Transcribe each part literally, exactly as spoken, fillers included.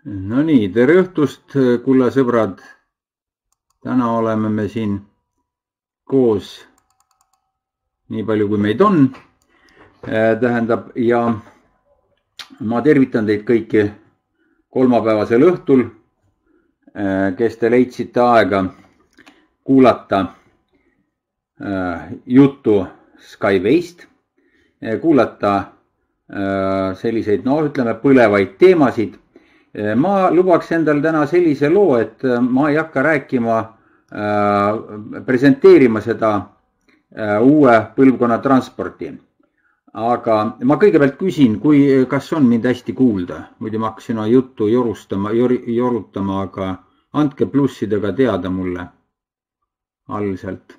No nii, tere õhtust, kulla sõbrad. Täna oleme me siin koos nii palju, kui meid on. Tähendab, ja ma tervitan teid kõiki kolmapäevasel õhtul, kes te leidsite aega kuulata juttu Skyway'st, kuulata selliseid, no ütleme, põlevaid teemasid. Ma lubaks endal täna sellise loo, et ma ei hakka rääkima, presenteerima seda uue põlvkonna transporti. Aga ma kõigepealt küsin, kui, kas on mind hästi kuulda. Muidu ma hakkasin juttu jorustama, jorutama, aga andke plussidega teada mulle all sealt.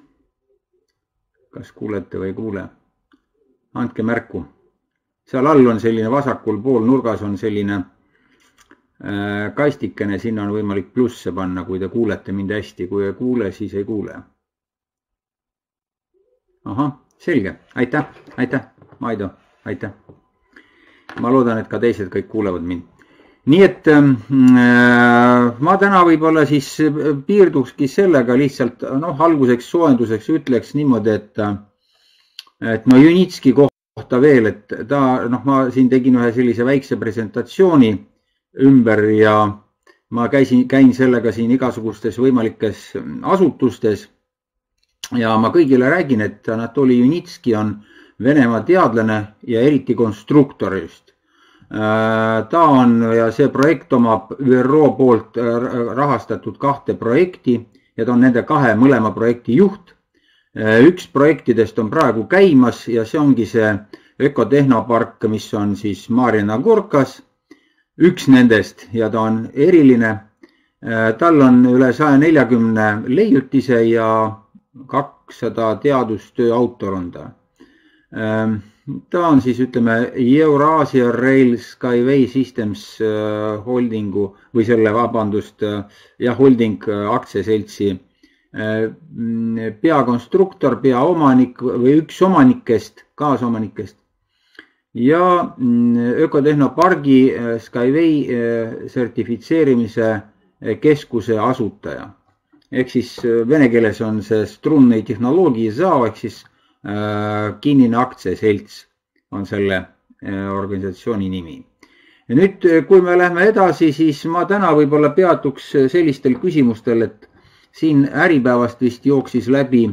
Kas kuulete või ei kuule? Andke märku. Seal all on selline vasakul pool nurgas on selline kastikene, sinna on võimalik plusse panna, kui te kuulete mind hästi. Kui ei kuule, siis ei kuule. Aha, selge. Aitäh, aitäh, Maido, aitäh. Ma loodan, et ka teised kõik kuulevad mind. Nii et äh, ma täna võib-olla siis piirdukski sellega lihtsalt, noh, alguseks soojenduseks ütleks niimoodi, et, et no Junitski kohta veel, et ta, noh, ma siin tegin ühe sellise väikse presentatsiooni ümber ja ma käisin, käin sellega siin igasugustes võimalikes asutustes ja ma kõigile räägin, et Anatoli Junitski on Venemaa teadlane ja eriti konstruktor just. Ta on ja see projekt omab Ü R O poolt rahastatud kahte projekti ja ta on nende kahe mõlema projekti juht. Üks projektidest on praegu käimas ja see ongi see ökotehnopark, mis on siis Marjana Gorkas. Üks nendest ja ta on eriline. Tal on üle saja neljakümne leiutise ja kakssada teadustöö autor on ta. Ta on siis, ütleme, Eurasia Rail Skyway Systems holdingu või selle vabandust ja holding aktsiaseltsi peakonstruktor, peaomanik või üks omanikest, kaasomanikest. Ja ökotehnopargi Skyway sertifitseerimise keskuse asutaja. Ehk siis vene keeles on see Strunni tehnoloogia zao, ehk siis kinnine aktsiaselts on selle organisatsiooni nimi. Ja nüüd, kui me lähme edasi, siis ma täna võib-olla peatuks sellistel küsimustel, et siin Äripäevast vist jooksis läbi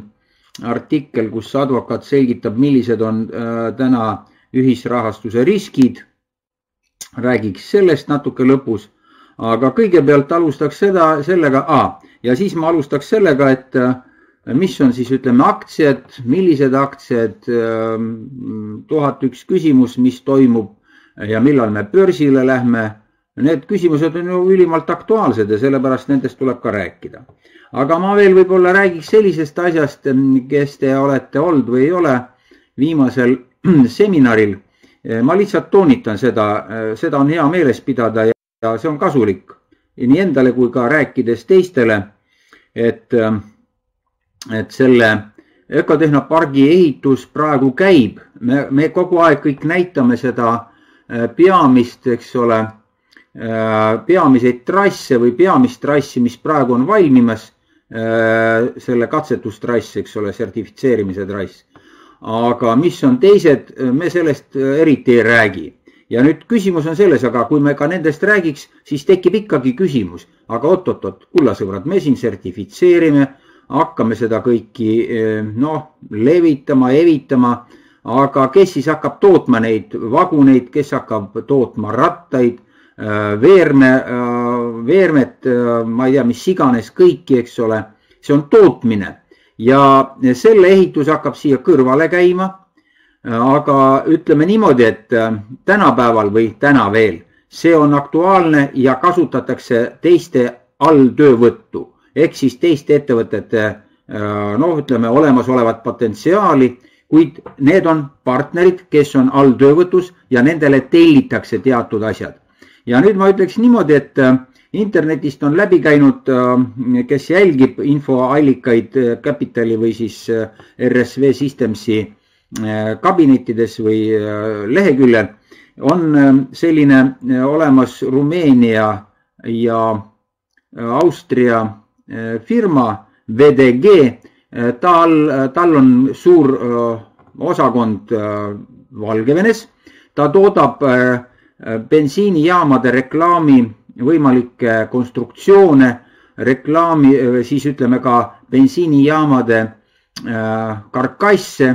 artikkel, kus advokaat selgitab, millised on täna ühisrahastuse riskid. Räägiks sellest natuke lõpus, aga kõigepealt alustaks seda, sellega, a, ja siis ma alustaks sellega, et mis on siis, ütleme, aktsiad, millised aktsiad, tuhat üks küsimus, mis toimub ja millal me börsile lähme. Need küsimused on ju ülimalt aktuaalsed ja sellepärast nendest tuleb ka rääkida. Aga ma veel võib-olla räägiks sellisest asjast, kes te olete olnud või ei ole viimasel seminaril. Ma lihtsalt toonitan seda, seda on hea meeles pidada ja see on kasulik nii endale kui ka rääkides teistele, et, et selle ökotehnopargi ehitus praegu käib. Me, me kogu aeg kõik näitame seda peamist, eks ole, peamiseid trasse või peamist trassi, mis praegu on valmimas, selle katsetustrass, eks ole, sertifitseerimise trass. Aga mis on teised, me sellest eriti ei räägi. Ja nüüd küsimus on selles, aga kui me ka nendest räägiks, siis tekib ikkagi küsimus. Aga oot-oot-oot, kullasõbrad, me siin sertifitseerime, hakkame seda kõiki no, levitama, evitama, aga kes siis hakkab tootma neid vaguneid, kes hakkab tootma rattaid, veerme, veermet, ma ei tea, mis iganes kõiki, eks ole, see on tootmine. Ja selle ehitus hakkab siia kõrvale käima, aga ütleme niimoodi, et tänapäeval või täna veel, see on aktuaalne ja kasutatakse teiste alltöövõttu, ehk siis teiste ettevõtete, no ütleme, olemasolevat potentsiaali, kuid need on partnerid, kes on alltöövõtus ja nendele tellitakse teatud asjad. Ja nüüd ma ütleks niimoodi, et internetist on läbi käinud, kes jälgib infoallikaid Capitali või siis R S V Systemsi kabinettides või leheküljel, on selline olemas Rumeenia ja Austria firma V D G, tal, tal on suur osakond Valgevenes, ta toodab bensiinijaamade reklaami võimalikke konstruktsioone, reklaami, siis ütleme ka bensiinijaamade karkasse,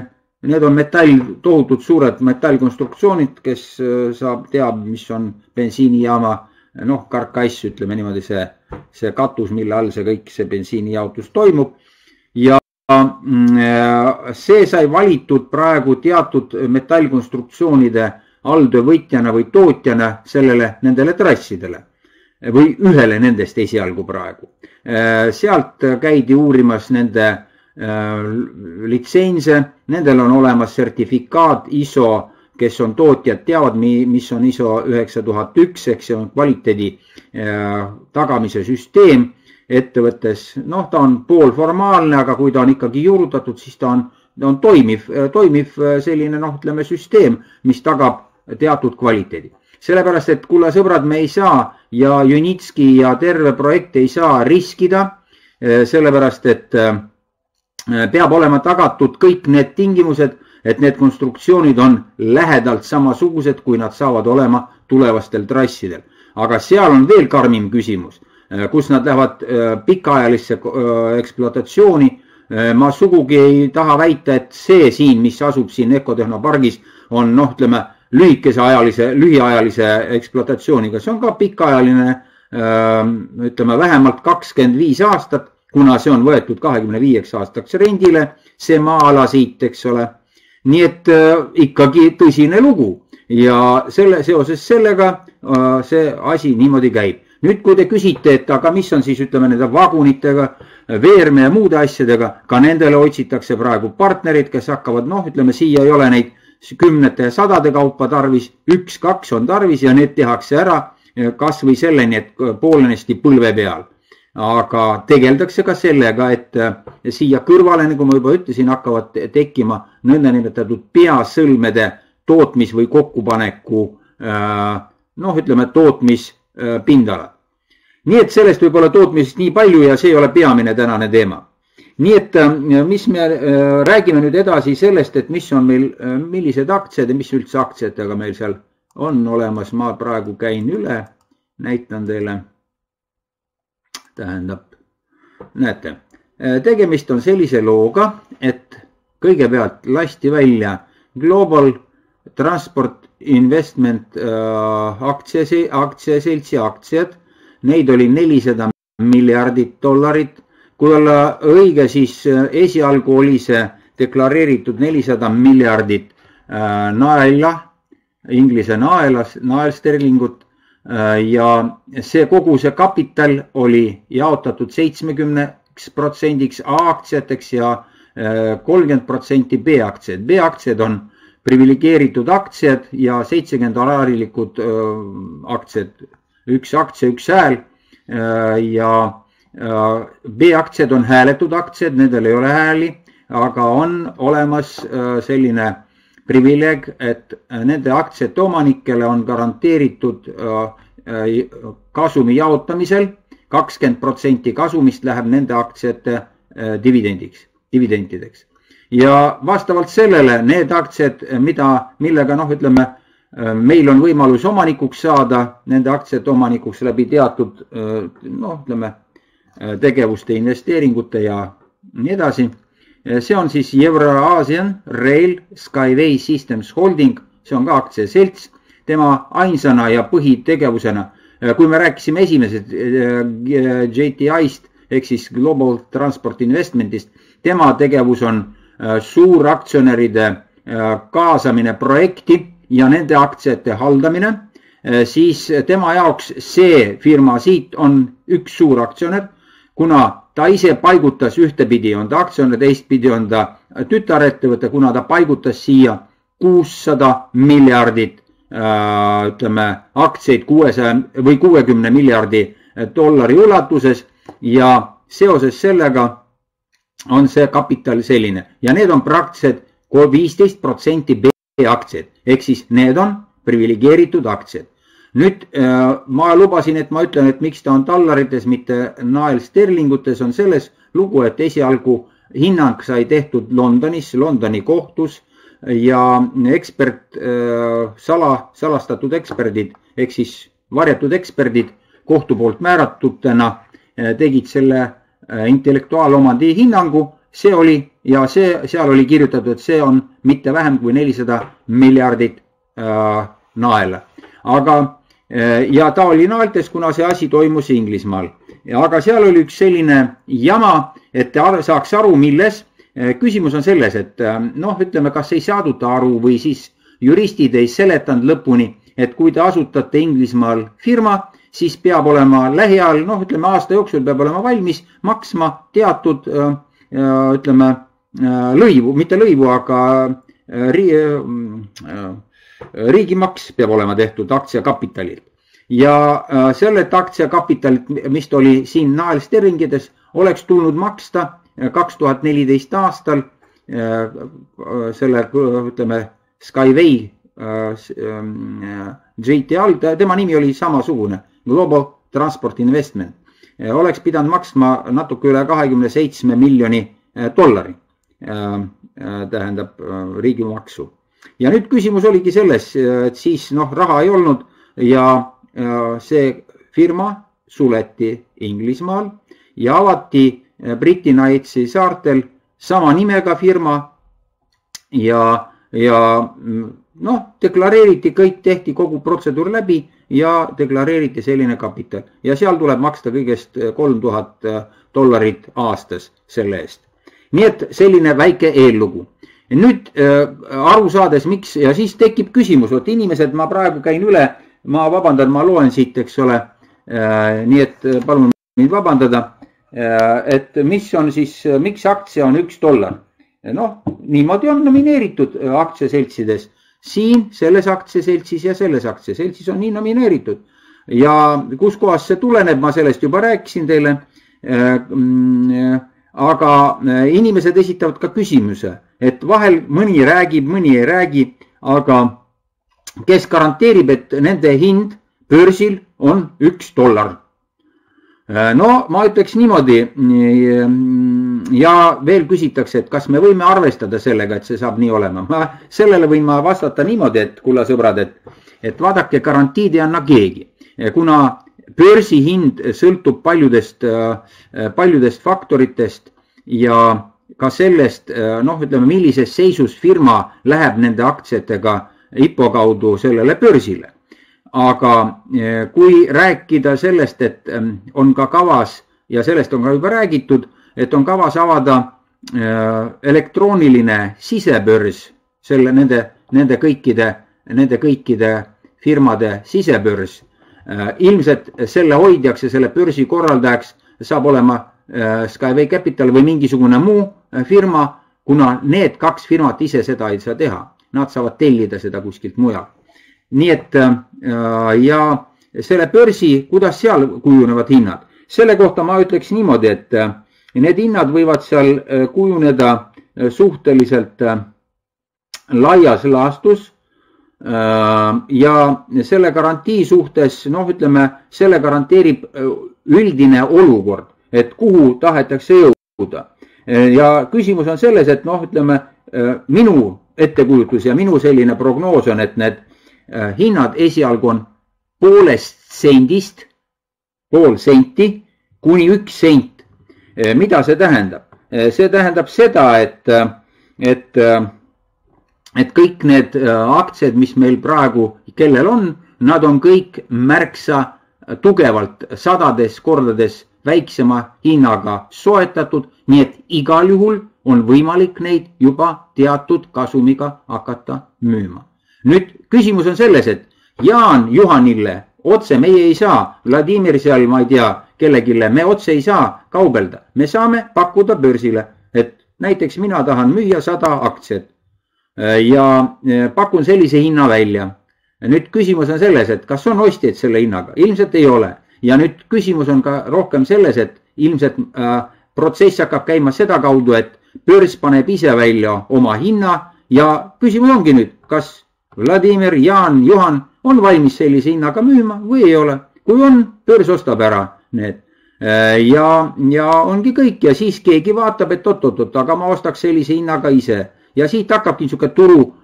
need on metall, tohutult suured metallkonstruktsioonid, kes saab, teab, mis on bensiinijaama, noh, karkass, ütleme niimoodi see, see katus, mille all see kõik see bensiinijaotus toimub. Ja see sai valitud praegu teatud metallkonstruktsioonide alltöövõtjana või tootjana sellele, nendele trassidele või ühele nendest esialgu praegu. Sealt käidi uurimas nende litsense, nendel on olemas sertifikaat I S O, kes on tootjad, teavad, mis on I S O üheksa tuhat üks, ehk see on kvaliteedi tagamise süsteem ettevõttes. Noh, ta on poolformaalne, aga kui ta on ikkagi juurutatud, siis ta on, on toimiv, toimiv selline, noh, ütleme, süsteem, mis tagab teatud kvaliteedi. Sellepärast, et kuule sõbrad, me ei saa ja Junitski ja terve projekt ei saa riskida, sellepärast, et peab olema tagatud kõik need tingimused, et need konstruktsioonid on lähedalt samasugused, kui nad saavad olema tulevastel trassidel. Aga seal on veel karmim küsimus, kus nad lähevad pikaajalisse ekspluatatsiooni. Ma sugugi ei taha väita, et see siin, mis asub siin Ecotehnopargis, on, noh, ütleme, lühikese ajalise, lühiajalise ekspluatatsiooniga. See on ka pikaajaline, ütleme, vähemalt kakskümmend viis aastat, kuna see on võetud kahekümne viieks aastaks rendile, see maa-ala siit, eks ole. Nii et ikkagi tõsine lugu ja selle, seoses sellega see asi niimoodi käib. Nüüd, kui te küsite, et aga mis on siis, ütleme, nende vagunitega, veerme ja muude asjadega, ka nendele otsitakse praegu partnerid, kes hakkavad, noh, ütleme, siia ei ole neid kümnete ja sadade kaupa tarvis, üks, kaks on tarvis ja need tehakse ära kas või selleni, et poolenisti põlve peal. Aga tegeldakse ka sellega, et siia kõrvale, nagu ma juba ütlesin, hakkavad tekkima nõndanimetatud peasõlmede tootmis- või kokkupaneku, noh, ütleme, tootmispindalad. Nii et sellest võib olla tootmisest nii palju ja see ei ole peamine tänane teema. Nii et mis me räägime nüüd edasi sellest, et mis on meil, millised aktsiad ja mis üldse aktsiatega meil seal on olemas. Ma praegu käin üle, näitan teile. Tähendab, näete, tegemist on sellise looga, et kõigepealt lasti välja Global Transport Investment aktsiaseltsi aktsiad. Neid oli nelisada miljardit dollarit. Kui olla õige, siis esialgu oli see deklareeritud nelisada miljardit naela, inglise naelas, naelsterlingut. Ja see kogu see kapital oli jaotatud seitsekümmend protsenti A-aktsiateks ja kolmkümmend protsenti B-aktsiad. B-aktsiad on privilegeeritud aktsiad ja seitsekümmend alaarilikud aktsiad. Üks aktsia, üks hääl ja B-aktsiad on hääletud aktsiad, nendel ei ole hääli, aga on olemas selline privileeg, et nende aktsiate omanikele on garanteeritud kasumi jaotamisel kakskümmend protsenti kasumist läheb nende aktsiate dividendiks, dividendideks. Ja vastavalt sellele need aktsiad, mida, millega, noh, ütleme, meil on võimalus omanikuks saada, nende aktsiate omanikuks läbi teatud, noh, ütleme, tegevuste, investeeringute ja nii edasi. See on siis Euro-Asian Rail Skyway Systems Holding, see on ka aktsiaselts, tema ainsana ja põhitegevusena. Kui me rääkisime esimesed J T I-st, ehk siis Global Transport Investmentist, tema tegevus on suuraktsionäride kaasamine projekti ja nende aktsiate haldamine, siis tema jaoks see firma siit on üks suuraktsionär, kuna ta ise paigutas ühtepidi, on ta aktsionär, teistpidi on ta tütarettevõte, kuna ta paigutas siia kuussada miljardit, ütleme, aktsiaid kuuesaja või kuuekümne miljardi dollari ulatuses ja seoses sellega on see kapital selline. Ja need on praktiliselt viisteist protsenti B-aktsiad, ehk siis need on privilegeeritud aktsiad. Nüüd ma lubasin, et ma ütlen, et miks ta on dollarites, mitte naelsterlingutes, on selles lugu, et esialgu hinnang sai tehtud Londonis, Londoni kohtus ja ekspert, sala, salastatud eksperdid, ehk siis varjatud eksperdid kohtu poolt määratutena tegid selle intellektuaalomandi hinnangu. See oli ja see, seal oli kirjutatud, et see on mitte vähem kui nelisada miljardit äh, naela. Aga äh, ja ta oli naeltes, kuna see asi toimus Inglismaal. Aga seal oli üks selline jama, et te saaks aru, milles. Küsimus on selles, et noh, ütleme, kas ei saaduta aru või siis juristid ei seletanud lõpuni, et kui te asutate Inglismaal firma, siis peab olema lähiajal, noh, ütleme aasta jooksul peab olema valmis maksma teatud, ütleme, lõivu, mitte lõivu, aga riigimaks peab olema tehtud aktsiakapitalilt. Ja sellelt aktsiakapitalilt, mis oli siin naelsterlingides, oleks tulnud maksta kaks tuhat neliteist aastal selle, ütleme, Skyway J T L, tema nimi oli samasugune, Global Transport Investment, oleks pidanud maksma natuke üle kahekümne seitsme miljoni dollari, tähendab riigimaksu. Ja nüüd küsimus oligi selles, et siis noh, raha ei olnud ja see firma suleti Inglismaal ja avati Briti Knightsi saartel sama nimega firma ja, ja noh, deklareeriti kõik, tehti kogu protseduur läbi ja deklareeriti selline kapital. Ja seal tuleb maksta kõigest kolm tuhat dollarit aastas selle eest. Nii et selline väike eellugu. Nüüd äh, aru saades, miks, ja siis tekib küsimus, et inimesed, ma praegu käin üle, ma vabandan, ma loen siit, eks ole, äh, nii et palun mind vabandada, äh, et mis on siis, miks aktsia on üks dollar. Noh, niimoodi on nomineeritud aktsiaseltsides. Siin selles aktsiaseltsis ja selles aktsiaseltsis on nii nomineeritud. Ja kus kohas see tuleneb, ma sellest juba rääkisin teile, äh, aga inimesed esitavad ka küsimuse, et vahel mõni räägib, mõni ei räägi, aga kes garanteerib, et nende hind börsil on üks dollar. No ma ütleks niimoodi ja veel küsitakse, et kas me võime arvestada sellega, et see saab nii olema. Ma, sellele võin ma vastata niimoodi, et kulla sõbrad, et, et vaadake, garantiid ei anna keegi, kuna börsi hind sõltub paljudest, paljudest faktoritest ja ka sellest, noh, ütleme, millises seisus firma läheb nende aktsiatega I P O kaudu sellele börsile. Aga kui rääkida sellest, et on ka kavas, ja sellest on ka juba räägitud, et on kavas avada elektrooniline sisebörs, selle, nende, nende kõikide, nende kõikide firmade sisebörs, ilmselt selle hoidjaks ja selle börsi korraldajaks saab olema Skyway Capital või mingisugune muu firma, kuna need kaks firmat ise seda ei saa teha. Nad saavad tellida seda kuskilt mujal. Nii et ja selle börsi, kuidas seal kujunevad hinnad? Selle kohta ma ütleks niimoodi, et need hinnad võivad seal kujuneda suhteliselt laias laastus ja selle garantii suhtes, noh, ütleme, selle garanteerib üldine olukord, et kuhu tahetakse jõuda. Ja küsimus on selles, et noh, ütleme, minu ettekujutus ja minu selline prognoos on, et need hinnad esialgu on poolest sendist, pool senti kuni üks sent. Mida see tähendab? See tähendab seda, et, et, et kõik need aktsiad, mis meil praegu, kellel on, nad on kõik märksa tugevalt sadades kordades väiksema hinnaga soetatud, nii et igal juhul on võimalik neid juba teatud kasumiga hakata müüma. Nüüd küsimus on selles, et Jaan Juhanille otse meie ei saa, Vladimir seal, ma ei tea, kellegile, me otse ei saa kaubelda. Me saame pakkuda börsile, et näiteks mina tahan müüa sada aktsiat ja pakun sellise hinna välja. Nüüd küsimus on selles, et kas on ostjaid selle hinnaga? Ilmselt ei ole. Ja nüüd küsimus on ka rohkem selles, et ilmselt äh, protsess hakkab käima seda kaudu, et börs paneb ise välja oma hinna ja küsimus ongi nüüd, kas Vladimir, Jaan, Juhan on valmis sellise hinnaga müüma või ei ole. Kui on, börs ostab ära need. Ja, ja ongi kõik ja siis keegi vaatab, et oot-oot-oot, aga ma ostaks sellise hinnaga ise. Ja siit hakkabki niisugune turu,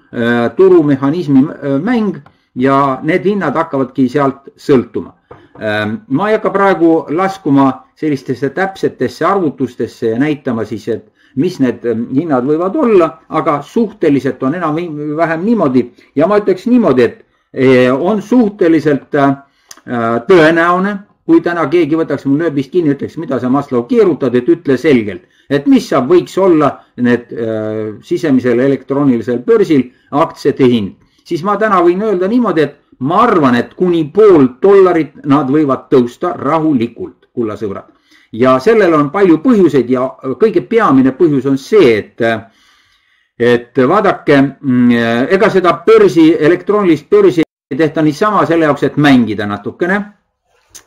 turumehhanismi mäng ja need hinnad hakkavadki sealt sõltuma. Ma ei hakka praegu laskuma sellistesse täpsetesse arvutustesse ja näitama siis, et mis need hinnad võivad olla, aga suhteliselt on enam vähem niimoodi ja ma ütleks niimoodi, et on suhteliselt tõenäone, kui täna keegi võtaks mul nööbist kinni, ütleks, mida sa Maslow keerutad, et ütle selgelt, et mis saab, võiks olla need äh, sisemisel elektroonilisel börsil aktsiate hind. Siis ma täna võin öelda niimoodi, et ma arvan, et kuni pool dollarit nad võivad tõusta rahulikult, kulla sõbrad. Ja sellel on palju põhjuseid ja kõige peamine põhjus on see, et, et vaadake, ega seda börsi, elektroonilist börsi ei tehta niisama selle jaoks, et mängida natukene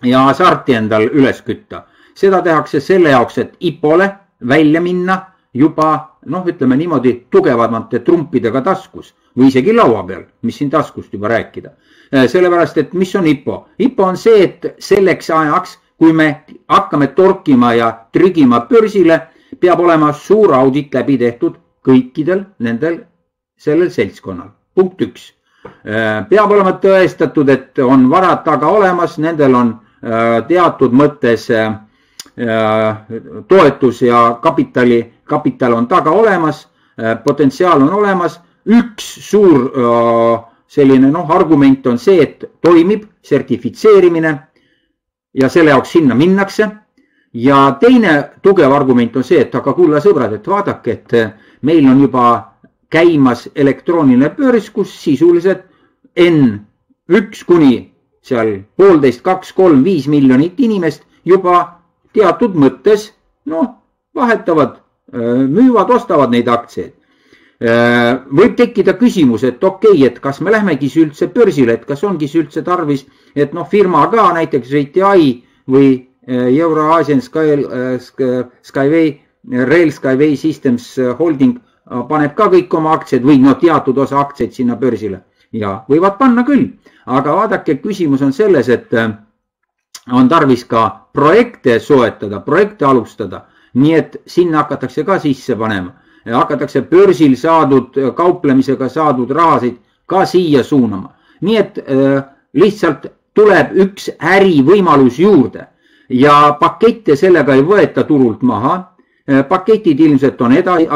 ja hasarti endal üles kütta. Seda tehakse selle jaoks, et I P O-le välja minna juba, noh, ütleme niimoodi, tugevamate trumpidega taskus või isegi laua peal, mis siin taskust juba rääkida. Sellepärast, et mis on I P O? I P O on see, et selleks ajaks, kui me hakkame torkima ja trügima börsile, peab olema suur audit läbi tehtud kõikidel nendel sellel seltskonnal. Punkt üks. Peab olema tõestatud, et on varad taga olemas, nendel on teatud mõttes toetus ja kapitali, kapital on taga olemas, potentsiaal on olemas. Üks suur selline noh, argument on see, et toimib sertifitseerimine ja selle jaoks sinna minnakse. Ja teine tugev argument on see, et aga kulla sõbrad, et vaadake, et meil on juba käimas elektrooniline börs, kus sisuliselt N üks kuni seal poolteist, kaks, kolm, viis miljonit inimest juba teatud mõttes, noh, vahetavad, müüvad, ostavad neid aktsiaid. Võib tekkida küsimus, et okei, okay, et kas me lähmegi üldse börsile, et kas ongi üldse tarvis, et noh, firma ka näiteks R T I või Euro-Asian Skyway, Rail Skyway Systems Holding paneb ka kõik oma aktsiaid või no teatud osa aktsiaid sinna börsile. Ja võivad panna küll, aga vaadake, küsimus on selles, et on tarvis ka projekte soetada, projekte alustada, nii et sinna hakatakse ka sisse panema. Hakatakse börsil saadud, kauplemisega saadud rahasid ka siia suunama. Nii et lihtsalt tuleb üks ärivõimalus juurde ja pakette sellega ei võeta turult maha. Paketid ilmselt on edasi,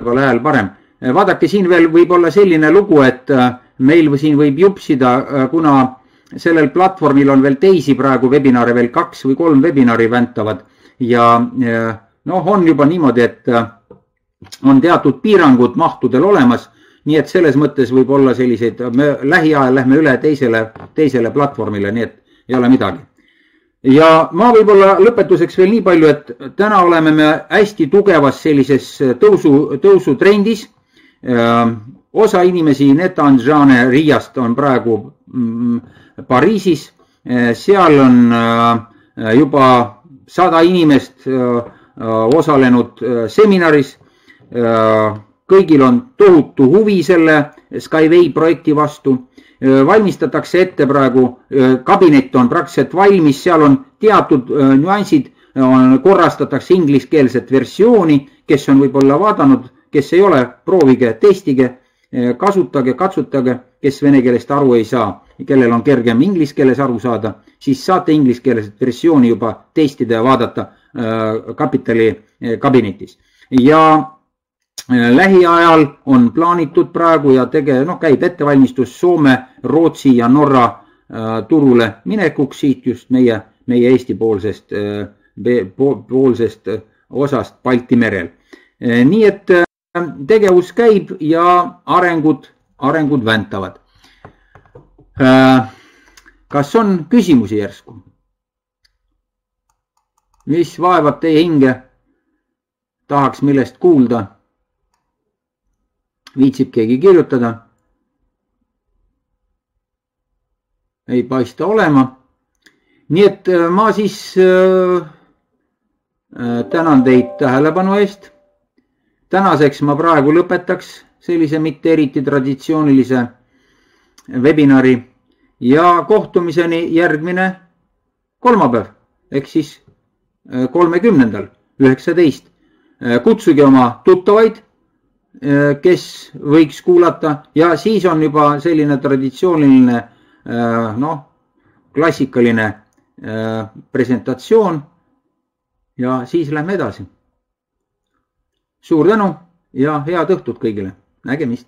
ole hääl parem. Vaadake, siin veel võib olla selline lugu, et meil siin võib jupsida, kuna sellel platvormil on veel teisi praegu webinare, veel kaks või kolm webinari väntavad ja noh, on juba niimoodi, et on teatud piirangud mahtudel olemas, nii et selles mõttes võib olla selliseid, me lähiajal lähme üle teisele, teisele platvormile, nii et ei ole midagi. Ja ma võib-olla lõpetuseks veel nii palju, et täna oleme me hästi tugevas sellises tõusu, tõusutrendis. Osa inimesi Netanjane Riiast on praegu Pariisis. Seal on juba sada inimest osalenud seminaris. Kõigil on tohutu huvi selle Skyway projekti vastu. Valmistatakse ette praegu, kabinet on praktiliselt valmis, seal on teatud nüansid, korrastatakse ingliskeelset versiooni, kes on võib-olla vaadanud, kes ei ole, proovige, testige, kasutage, katsutage, kes vene keelest aru ei saa, kellel on kergem ingliskeeles aru saada, siis saate ingliskeelset versiooni juba testida ja vaadata kapitali kabinetis. Ja lähiajal on plaanitud praegu ja tege, no, käib ettevalmistus Soome, Rootsi ja Norra turule minekuks siit just meie, meie Eesti poolsest, poolsest osast Balti merel. Nii et tegevus käib ja arengud, arengud väntavad. Kas on küsimusi järsku? Mis vaevab teie hinge? Tahaks millest kuulda? Viitsib keegi kirjutada? Ei paista olema. Nii et ma siis tänan teid tähelepanu eest. Tänaseks ma praegu lõpetaks sellise mitte eriti traditsioonilise webinari ja kohtumiseni järgmine kolmapäev, ehk siis kolmekümnendal üheksateist. Kutsuge oma tuttavaid, kes võiks kuulata ja siis on juba selline traditsiooniline, noh, klassikaline presentatsioon ja siis lähme edasi. Suur tänu ja head õhtut kõigile. Nägemist!